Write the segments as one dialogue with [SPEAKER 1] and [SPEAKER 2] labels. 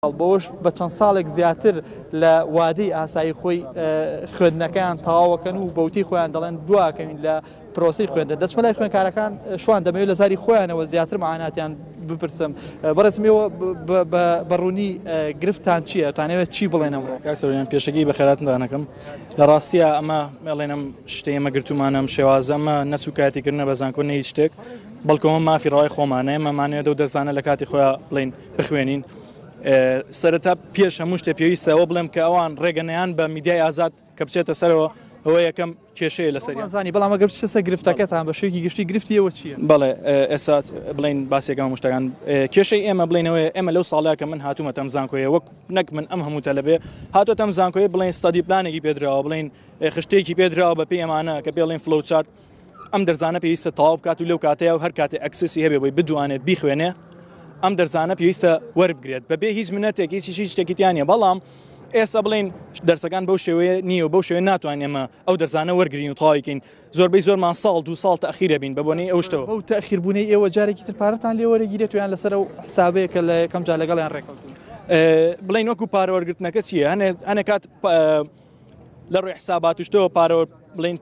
[SPEAKER 1] بەوەش بە چەند ساڵێک زیاتر لە وادەی ئاسایی خۆی خوێندنەکەیان تەواوەکەن و بەوتەی خۆیان دەڵێن دواکەوین لە پرۆسەی خوێندن. دەچمە لای خوێندکارەکان شوان دەمەوێت لە زاری خۆیانەوە زیاتر معاناتیان بپرسم. بەڕێزم ئێوە بە ڕوونی گرفتتان چییە؟ تانەوێت چی بڵێن ئەمڕۆ؟
[SPEAKER 2] کاک سەروەریان پێشەکی بەخێراتتان ئەکەم. لە ڕاستیە ئەمە ئەڵێنم شتەی ئێمە گرتومانە ئەم شێوازە ئەمە نە سوکایەتیکردنە بە زانکۆ نە هیچ شتێک بەڵکو ئەمە مافی ڕەوای خۆمانە ئێمە مانەوێت ئەو دەرسانە لە کاتی خۆیان بڵێین بخوێنین سەرەتا پێش هەموو شتێ پێویستە ئەوە بڵێم کە ئەوان ڕێگەنیان بە میدیای ئازاد کە بچێتە سەرەوە ئەوە یەکەم کێشەیە لەسەر
[SPEAKER 1] زانی بەڵام ئەگەر بچێتە سەر گرفتەکەتان بە شێوەیەکی گشتی گرفتی ئێوە چییە؟
[SPEAKER 2] بەڵێ ئێستا بڵین باسێکەکەم هەموو شتەکان کێشەی ئێمە بڵێنەوەی ئێمە لەو ساڵەیە کە من هاتوومەتە ئەم زانکۆیە وەک نەک من ئەم هەموو تەلەبێ هاتووەتە ئەم زانکۆیە بڵێن study plan ێکی پێدراوە بڵێن خشتێکی پێدراوە بە پێی ئەمانە کە پێڵێن flow chart ئەم دەرزانە پێویستە تەواو بکات و لەو کاتەیە و هەر کاتێ access ی هەبێ بۆی بدوانێت بیخوێنێ ئەم دەرزانە پێویستە وەربگرێت بەبێ هیچ منەتێک هیچ هیچ شتێکی تیا نییە بەڵام ئێستا بڵین دەرسەکان بەو شێوەیە نییە و بەو شێوەیە ناتوانین ئێمە ئەو دەرزانە وەرگین و تەواویکەین زۆربەی زۆرمان ساڵ دو ساڵ تەخیرە بین بە بۆنەی ئەو شتەوە
[SPEAKER 1] بەو تەخیربوونەی ئێوە جارێکی تر پارەتان لێ وەرەگیرێت و یان لەسەر ئەو حسابەیە کە لە یەکەم جار لەگەڵیان ڕێکەوتوون؟
[SPEAKER 2] بڵین وەکو پارە وەرگرتنەکە چییە هەنێ هەنێ کات لە ڕووی حسابات و شتەوە پارە بڵین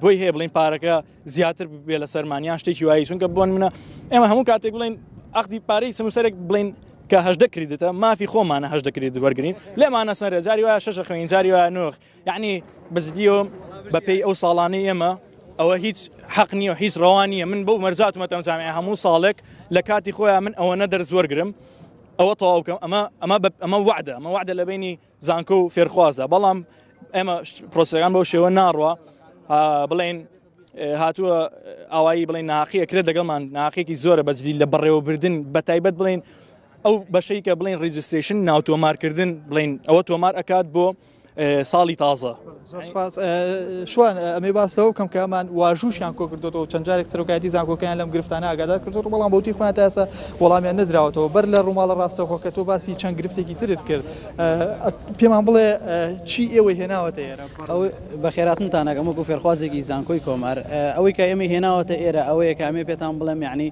[SPEAKER 2] بۆی هەیە بڵین پارەکە زیاتر بێ لە سەرمان یان شتێکی وایی چونکە بۆن منە ئێمە هەموو کاتێک بڵین عقدی پارەی سمسەرێک بڵین کە هەشدە credit ە مافی خۆمانە هەشدە credit وەرگین لێمانە سەرە جاری وایە شەشە خوێن جاری وایە نۆخ یعنی بەجدیەوە بەپێی ئەو ساڵانەی ئێمە ئەوە هیچ حەق نییە و هیچ ڕەوان نییە من بەو مەرجاتمەتەم جامیعە هەموو ساڵێک لە کاتی خۆیان من ئەوە نەدەرز وەرگرم ئەوە تەواو بکەم ئەمە ئەمە ئەمە وعدە ئەمە وعدە لە بینی زانکۆ و فێرخوازە بەڵام ئێمە پرۆسەکان بەو شێوە ناڕوە بڵێن هاتووە ئاوایی بڵێن ناقی ئەکرێت لەگەڵمان ناقێکی زۆرە بەجدی لە بەڕێوەبردن بە تایبەت بڵێن ئەو بەشەی کە بڵێن registration ناو تۆمارکردن بڵێن ئەوە تۆمار ئەکات بۆ ساڵی تازە.
[SPEAKER 1] زۆر سپاس شوان ئەمێ باس لەوە بکەم کە ئەمان واژووشیان کۆ کردوێتەوە چەند جارێک سەرۆکایەتی زانکۆکەیان لەم گرفتانە ئاگادار کردووە بەڵام بەوتی خۆیان تا ئێستا وەڵامیان نەدراوەتەوە بەر لە ڕووماڵە ڕاستەوخۆ کە تۆ باسی چەند گرفتێکی ترت کرد پێمان بڵێ چی ئێوەی هێناوەتە ئێرە؟
[SPEAKER 3] ئەو بەخێراتنتان ئەکەم وەکو فێرخوازێکی زانکۆی کۆمار ئەوەی کە ئێمەی هێناوەتە ئێرە ئەوەیە کە ئەمێ پێتان بڵێم یعنی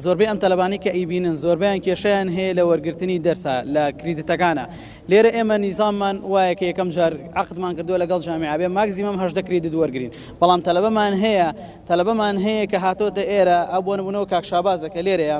[SPEAKER 3] زۆربەی ئەم تەلەبانەی کە ئەیبینن زۆربەیان کێشەیان هەیە لە وەرگرتنی دەرسا لە credit ەکانە لێرە ئێمە نیزاممان وایە کە یەکەم جار عەقدمان کردووە لەگەڵ جامیعە بێ maximum 18 credit وەرگین بەڵام تەلەبەمان هەیە تەلەبەمان هەیە کە هاتۆتە ئێرە ئەو بۆ نمونەوە کاک شابازە کە لێرەیە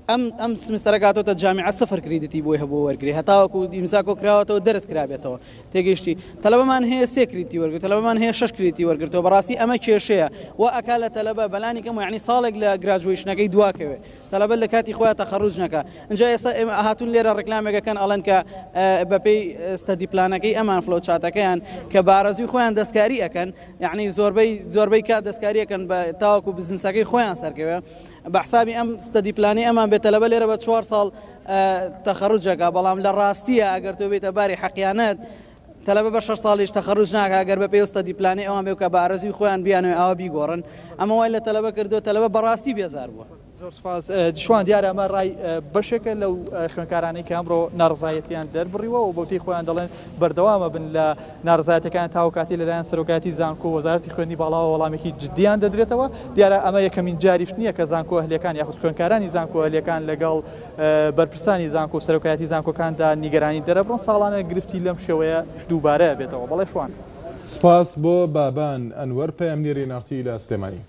[SPEAKER 3] ئەم ئەم سمستەرە گاتۆتە جامیعە سفر credit ی بۆی هەبوو وەرگری هەتاوەکو ئیمزا کۆ کراوەتەوە دەرس کرابێتەوە تێگەیشتی تەلەبەمان هەیە سێ credit ی وەرگرت تەلەبەمان هەیە شەش credit ی وەرگرتەوە بەڕاستی ئەمە کێشەیە و ئەکا لە تەلەبە بەلانی کەم یعنی ساڵێک لە graduation ەکەی دواکەوێ تەلەبە لە کاتی خۆیان تەخەروج نەکا اینجا ئێستا ئێمە هاتوون لێرە ڕێکلامێکەکەن ئەڵێن کە بەپێی study plan ەکەی ئەمان flow chart ەکەیان کە بارەزوی خۆیان دەستکاری ئەکەن یعنی زۆربەی زۆربەی کات دەستکاری ئەکەن بە تاوەکو بزنسەکەی خۆیان سەرکەوێ بە حسابی ئەم study plan ی ئەمان بێت تەلەبە لێرە بە چوار ساڵ تەخەروجەکە بەڵام لە ڕاستیە ئەگەر تۆ بێتە باری حەقیانەت تەلەبە بە شەش ساڵیش تەخەروج ناکا ئەگەر بە پێی study plan ی ئەوان بێ کە بە ئارەزووی خۆیان بیانەوێ ئاوا بیگۆڕن ئەمە وای لە تەلەبە کردووە تەلەبە بەڕاستی بێزار بووە.
[SPEAKER 1] زۆر سوپاس شوان دیارە ئەمە ڕای بەشێکە لەو خوێندکارانەی کە ئەمڕۆ ناڕەزایەتیان دەربڕیوە و بەوتەی خۆیان دەڵێن بەردەوامە بن لە ناڕەزایەتەکان تاوە کاتی لەلایەن سەرۆکایەتی زانکۆ و وەزارەتی خوێندنی باڵاوە وەڵامێکی جدیان دەدرێتەوە دیارە ئەمە یەکەمین جاریش نییە کە زانکۆ ئەهلیەکان یاخود خوێندکارانی زانکۆ ئەهلیەکان لەگەڵ بەرپرسانی زانکۆ و سەرۆکایەتی زانکۆکاندا نیگەرانی دەرەبڕن ساڵانە گرفتی لەم شێوەیە دووبارە بێتەوە بەڵێ شوان.
[SPEAKER 4] سپاس بۆ بابان ئەنوەر پەیامنێری ئێن ئاڕ تی لە سلێمانی.